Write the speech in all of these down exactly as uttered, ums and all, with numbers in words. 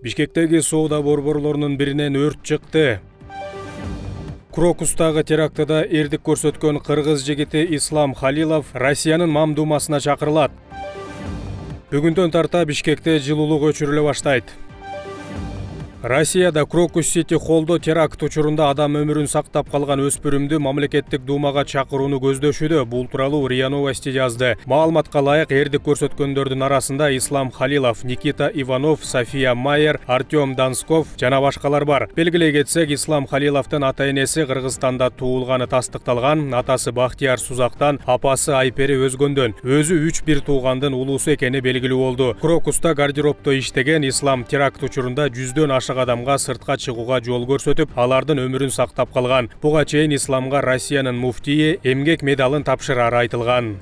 Бишкектеги соода борборлорунун биринен өрт чыкты. Крокустагы терактыда эрдик көрсөткөн кыргыз жигити Ислам Халилов Россиянын Мамдумасына чакырылат. Бүгүндөн тарта Бишкекте жылуулук өчүрүлө баштайт. Россияда Крокус-Сити холлдо теракт учурунда адам өмүрүн сактап калган өспүрүмдү мамлекеттик думага чакырууну көздөшүдө. Бул тууралуу РИА Новости жазды. Маалыматка ылайык, эрдик көрсөткөндөрдүн арасында Ислам Халилов, Никита Иванов, София Майер, Артем Донсков жана башкалар бар. Белгилей кетсек, Ислам Халиловдун ата-энеси Кыргызстанда туулганы тастыкталган, атасы Бахтияр Сузактан, апасы Айпери Өзгөндөн. Өзү үч бир туугандын улуусу экени белгилүү болду. Крокуста гардеробдо иштеген Ислам теракт учурунда жүздөн ашык адамга сыртка чыгууга жол көрсөтүп, алардын өмүрүн сактап калган. Буга чейин Исламга Россиянын муфтийи эмгек медалын тапшырары айтылган.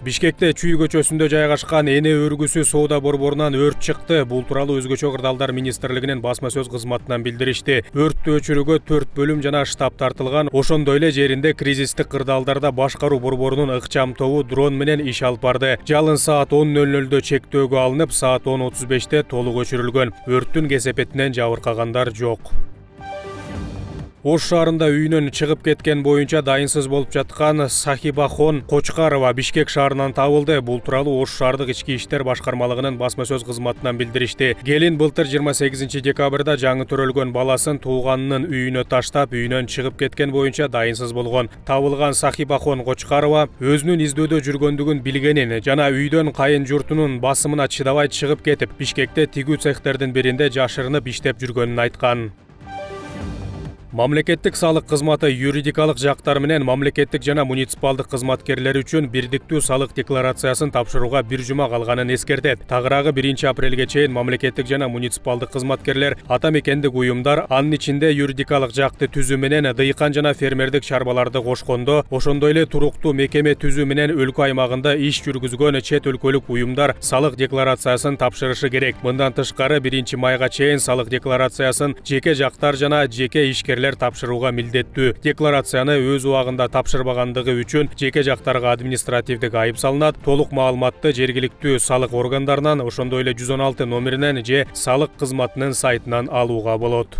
Бишкекте Чүй көчөсүндө жайгашкан эне өргүсү соода борборунан өрт чыкты. Бул тууралуу Өзгөчө кырдаалдар министрлигинин басма сөз кызматынан билдиришти. Өрттү өчүрүүгө төрт бөлүм жана штаб тартылган. Ошондой эле жеринде кризистик кырдаалдарда башкаруу борборунун ыкчам тобу дрон менен иш алып барды. Жалын саат он нөл нөлдө чектөөгө алынып, саат он отуз беште толук өчүрүлгөн. Өрттүн кесепетинен жабыркагандар жок. Ош шаарында үйүнөн чыгып кеткен боюнча дайынсыз болуп жаткан Сахибахон Кочкарова Бишкек шаарынан табылды. Бул тууралуу Ош шаардык ички иштер башкармалыгынын басма сөз кызматынан билдиришти. Келин былтыр жыйырма сегизинчи декабрда жаңы төрөлгөн баласын тууганынын үйүнө таштап, үйүнөн чыгып кеткен боюнча дайынсыз болгон. Табылган Сахибахон Кочкарова өзүнүн издөөдө жүргөндүгүн билгенин жана үйдөн кайын журтунун басымына чыдабай чыгып кетип, Бишкекте тигүү цехтердин биринде жашырынып иштеп жүргөнүн айткан. Мамлекеттик салык кызматы юридикалык жактар менен мамлекеттик жана муниципалдык кызматкерлер үчүн бирдиктүү салык декларациясын тапшырууга бир жума калганын эскертет. Тагыраагы биринчи апрелге чейин мамлекеттик жана муниципалдык кызматкерлер ата мекендик уюмдар, анын ичинде юридикалык жакты түзүү менен дыйкан жана фермердик чарбаларды кошкондо, ошондой эле туруктуу мекеме түзүү менен өлкө аймагында иш жүргүзгөн чет өлкөлүк уюмдар салык декларациясын тапшырышы керек. Мындан тышкары биринчи майга чейин салык декларациясын жеке жактар жана жеке ишкерлер тапшырууга милдеттүү. Декларацияны өз убагында тапшырбагандыгы үчүн жеке жактарга административдик айып салынат. Толук маалыматты жергиликтүү салык органдарынан, ошондой эле жүз он алты номеринен же салык кызматынын сайтынан алууга болот.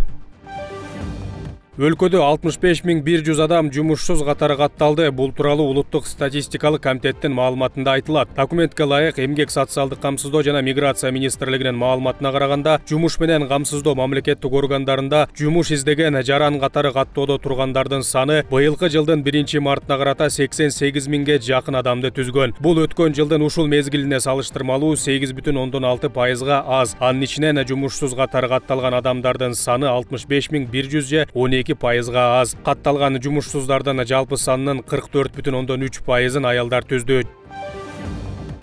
Өлкөдө алтымыш беш миң бир жүз адам жумушсуз катары катталды. Бул тууралуу Улуттук статистикалык комитеттин маалыматында айтылат. Документке ылайык, Эмгек социалдык камсыздоо жана миграция министрлигинин маалыматына караганда, жумуш менен камсыздоо мамлекеттик органдарында жумуш издеген жаран катары каттоодо тургандардын саны быйылкы жылдын биринчи мартына карата сексен сегиз миңге жакын адамды түзгөн. Бул өткөн жылдын ушул мезгилине салыштырмалуу сегиз бүтүн ондон алты пайызга аз. Анын ичинен жумушсуз катары катталган адамдардын саны алтымыш беш миң бир жүз же он эки пайызга аз. Катталган жумушсуздардын жалпы санынын кырк төрт бүтүн ондон үч пайызын аялдар түздү.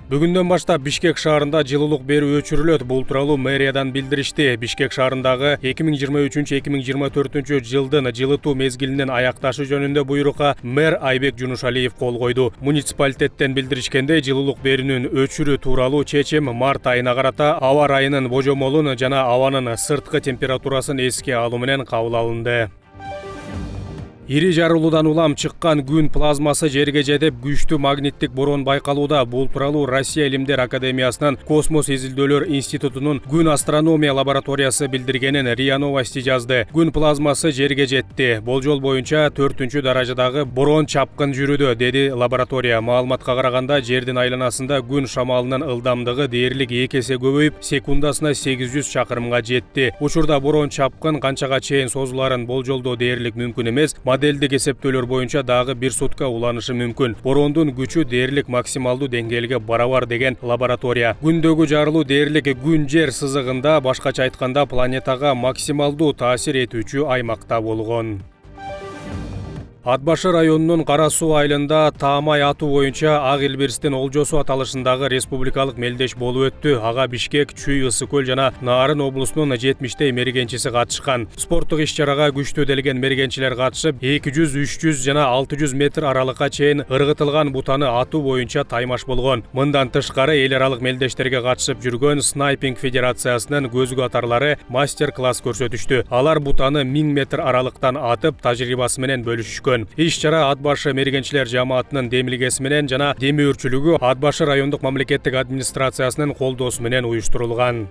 Бүгүндөн баштап Бишкек шаарында жылуулук берүү өчүрүлөт. Бул тууралуу мэриядан билдиришти. Бишкек шаарындагы эки миң жыйырма үчүнчү эки миң жыйырма төртүнчү жылдын жылытуу мезгилинин аякташы жөнүндө буйрукка мэр Айбек Жунушалиев кол койду. Муниципалитеттен билдиришкендей, жылуулук берүүнүн өчүрүү тууралуу чечим март айына карата аба ырайынын божомолун жана абанын сырткы температурасын эске алуу менен кабыл алынды. Ири жарылуудан улам чыккан күн плазмасы жерге жетип, күчтүү магниттик борон байкалууда. Бул тууралуу Россия Илимдер академиясынын Космос изилдөөлөр институтунун күн астрономия лабораториясы билдиргенин РИА Новости жазды. Күн плазмасы жерге жетти. Болжол боюнча төртүнчү даражадагы борон чапкын жүрүүдө, деди лаборатория. Маалыматка караганда, жердин айланасында күн шамалынын ылдамдыгы дээрлик эки эсе көбөйүп, секундасына сегиз жүз чакырымга жетти. Учурда борон чапкын канчага чейин созуларын болжолдоо дээрлик мүмкүн эмес. Моделдик эсептөөлөр боюнча дагы бир сутка уланышы мүмкүн. Борондун күчү дээрлик максималдуу деңгээлге барабар деген лаборатория. Күндөгү жарылуу дээрлик күн жер сызыгында, башкача айтканда планетага максималдуу таасир этүүчү аймакта болгон. Ат башы районунун Кара суу айылында таамай атуу боюнча ак илбирстин олжосу аталышындагы республикалык мелдеш болуп өттү. Ага Бишкек, Чүй, Ысык көл жана Нарын облусунун жетимиштей мергенчиси катышкан. Спорттук иш-чарага күчтүү делген мергенчилер катышып, эки жүз, үч жүз жана алты жүз метр аралыкка чейин ыргытылган бутаны атуу боюнча таймаш болгон. Мындан тышкары эл аралык мелдештерге катышып жүргөн снайпинг федерациясынын көзгү атарлары мастер-класс көрсөтүштү. Алар бутаны миң метр аралыктан атып, тажрыйбасы менен бөлүшүшкөн. Иш-чара Ат башы мергенчилер жамаатынын демилгеси менен жана демөөрчүлүгү Ат башы райондук мамлекеттик администрациясынын колдоосу менен уюштурулган.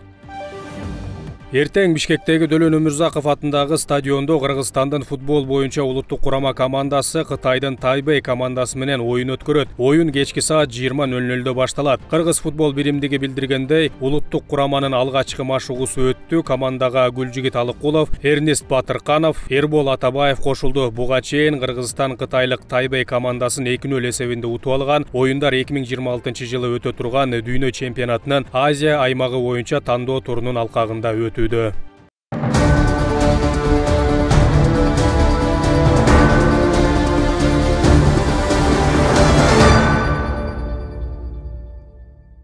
Эртең Бишкектеги Дөлөн Өмүрзаков атындагы стадиондо Кыргызстандын футбол боюнча улуттук курама командасы Кытайдын Тайбэй командасы менен оюн өткөрөт. Оюн кечки саат жыйырма нөл нөлдө башталат. Кыргыз футбол биримдиги билдиргендей, улуттук кураманын алгачкы машыгуусу өттү. Командага Гүлжигит Алыккулов, Эрнест Батырканов, Эрбол Атабаев кошулду. Буга чейин Кыргызстан Кытайлык Тайбэй командасын эки нөл эсебинде утуп алган. Оюндар эки миң жыйырма алтынчы жылы өтө турган Дүйнө чемпионатынын Азия аймагы боюнча тандоо турунун алкагында өтүүдө.